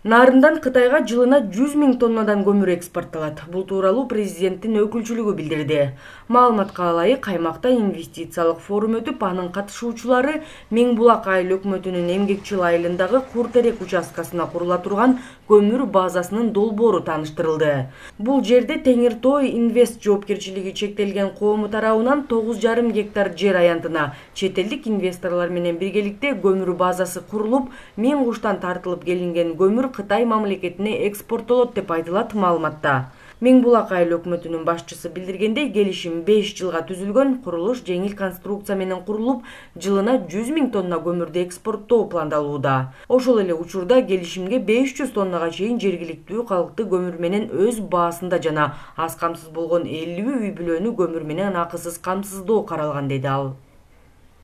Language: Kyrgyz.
Нарындан Кытайга жылына 100 000 тоннадан көмүр экспортталат. Бул тууралуу президенттин өкүлчүлүгү билдирди. Маалыматка ылайык, аймакта инвестициялык форум өтүп, анын катышуучулары Миң Булак айыл өкмөтүнүн Эмгекчил айылындагы Кур-Терек участкасына курула турган көмүр базасынын долбоору тааныштырылды. Бул жерде Теңир Той Инвест жоопкерчилиги чектелген коому тарабынан 9,5 гектар жер аянтына чет элдик инвесторлор менен биргеликте көмүр базасы курулуп, Миң Куштан тартылып келинген көмүр Кытай мамлекетине экспорттолот деп айтылат маалыматта. Миң Булак айыл өкмөтүнүн башчысы билдиргендей, келишим 5 жылга түзүлгөн, курулуш жеңил конструкция менен курулуп, жылына 100 000 тонна көмүрдү экспорттоо пландалууда. Ошол эле учурда келишимге 500 тоннага чейин жергиликтүү калкты көмүр менен өз баасында жана аз камсыз болгон 50 үй бүлөнү көмүр менен акысыз камсыздоо каралган, деди ал.